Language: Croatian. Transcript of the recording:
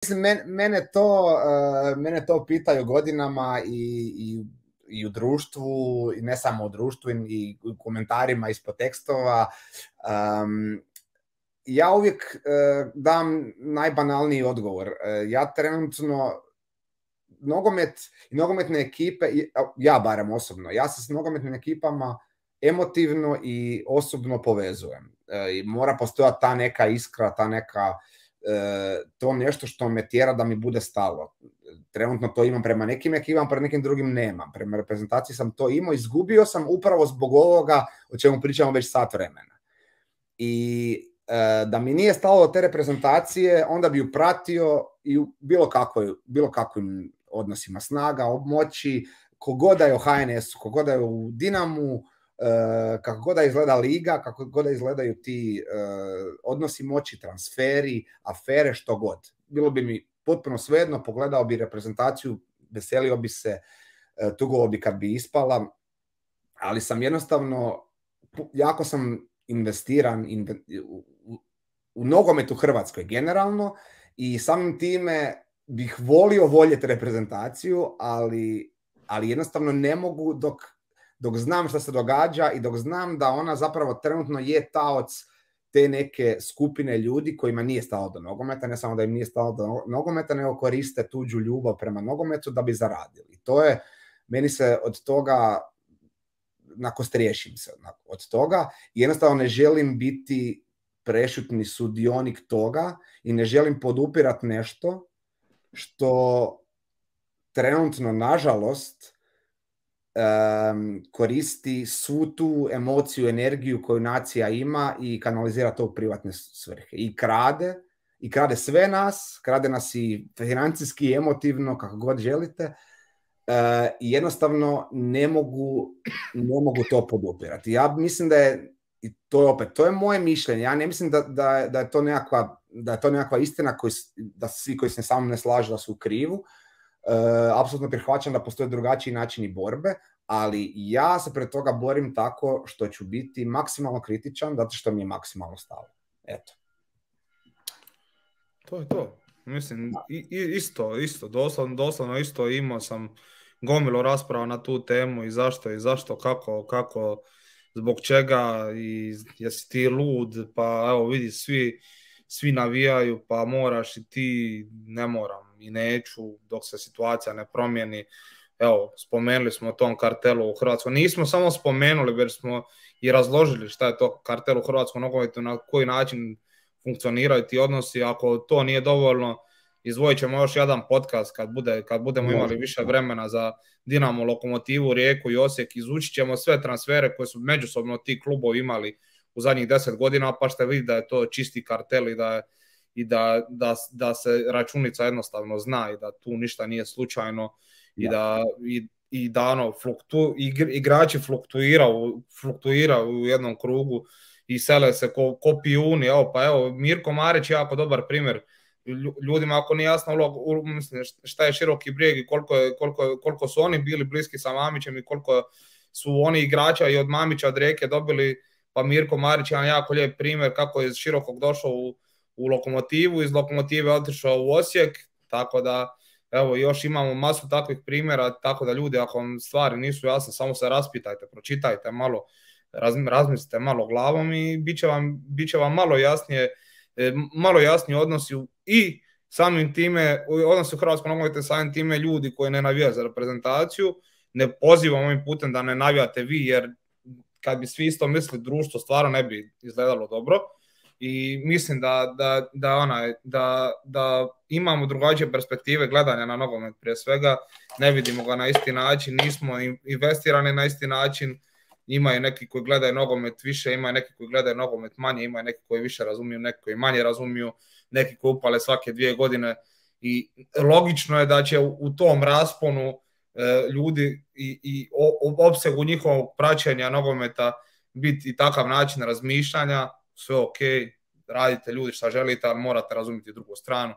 Mislim, mene to pitaju godinama i u društvu, i ne samo u društvu, i u komentarima ispod tekstova. Ja uvijek dam najbanalniji odgovor. Ja trenutno nogomet i nogometne ekipe, ja barem osobno, ja se s nogometnim ekipama emotivno i osobno povezujem. I mora postojati ta neka iskra, ta neka to nešto što me tjera da mi bude stalo. Trenutno to imam prema nekim ekipama, prema nekim drugim nemam. Prema reprezentaciji sam to imao, izgubio sam upravo zbog ovoga o čemu pričamo već sat vremena. I da mi nije stalo do te reprezentacije, onda bi ju pratio i u bilo kakvim odnosima snaga, moći, kogod da je u HNS-u, kogod da je u Dinamu, kako god da izgleda liga, kako god da izgledaju ti odnosi moći, transferi, afere, što god. Bilo bi mi potpuno svejedno, pogledao bi reprezentaciju, veselio bi se, tugovao bi kad bi ispala, ali sam jednostavno, jako sam investiran u nogomet u Hrvatskoj generalno i samim time bih volio voljeti reprezentaciju, ali jednostavno ne mogu dok znam što se događa i dok znam da ona zapravo trenutno je taoc te neke skupine ljudi kojima nije stalo do nogometa, ne samo da im nije stalo do nogometa, nego koriste tuđu ljubav prema nogometu da bi zaradili. To je, meni se od toga, nakostriješim se od toga i jednostavno ne želim biti prešutni sudionik toga i ne želim podupirati nešto što trenutno, nažalost, koristi svu tu emociju, energiju koju nacija ima i kanalizira to u privatne svrhe. I krade sve nas, krade nas i financijski, i emotivno, kako god želite, i jednostavno ne mogu to podupirati. Ja mislim da je, i to je moje mišljenje, ja ne mislim da je to nekakva istina da svi koji se sa mnom ne slažu da su u krivu. Apsolutno prihvaćam da postoje drugačiji načini borbe, ali ja se pred toga borim tako što ću biti maksimalno kritičan, zato što mi je maksimalno stalo. Eto. To je to. Mislim, isto, doslovno isto, imao sam gomilu rasprava na tu temu i zašto, kako, zbog čega, i jesi ti lud, pa evo vidi, svi navijaju, pa moraš i ti. Ne moram i neću dok se situacija ne promijeni. Evo, spomenuli smo o tom kartelu u Hrvatskoj. Nismo samo spomenuli, već smo i razložili šta je to kartel u hrvatskom nogometu, na koji način funkcioniraju ti odnosi. Ako to nije dovoljno, izdvojit ćemo još jedan podcast kad budemo imali više vremena za Dinamo, Lokomotivu, Rijeku i Osijek. Izučit ćemo sve transfere koje su međusobno ti klubovi imali u zadnjih 10 godina, pa ćete vidjeti da je to čisti kartel i da se računica jednostavno zna i da tu ništa nije slučajno. I da igrači fluktuiraju u jednom krugu i sele se ko pijuni. Evo, Mirko Marić je jako dobar primjer. Ljudima ako nije jasno šta je Široki Brijeg i koliko su oni bili bliski sa Mamićem i koliko su oni igrača i od Mamića, od Rijeke dobili, pa Mirko Marić je jedan jako lijep primjer kako je iz Širokog došao u Lokomotivu, iz Lokomotive otišao u Osijek, tako da evo, još imamo masu takvih primjera, tako da ljudi, ako vam stvari nisu jasne, samo se raspitajte, pročitajte malo, razmislite malo glavom i bit će vam malo jasnije odnosi i samim time, odnosi u hrvatskom nogometu, samim time ljudi koji ne navijaju za reprezentaciju. Ne pozivam ovim putem da ne navijate vi, jer kad bi svi isto mislili, društvo stvarno ne bi izgledalo dobro. I mislim da imamo drugačije perspektive gledanja na nogomet prije svega, ne vidimo ga na isti način, nismo investirani na isti način, imaju neki koji gledaju nogomet više, imaju neki koji gledaju nogomet manje, imaju neki koji više razumiju, neki koji manje razumiju, neki koji upale svake 2 godine i logično je da će u tom rasponu ljudi i opsegu njihovog praćenja nogometa biti i takav način razmišljanja. Sve ok, radite ljudi šta želite, ali morate razumjeti drugu stranu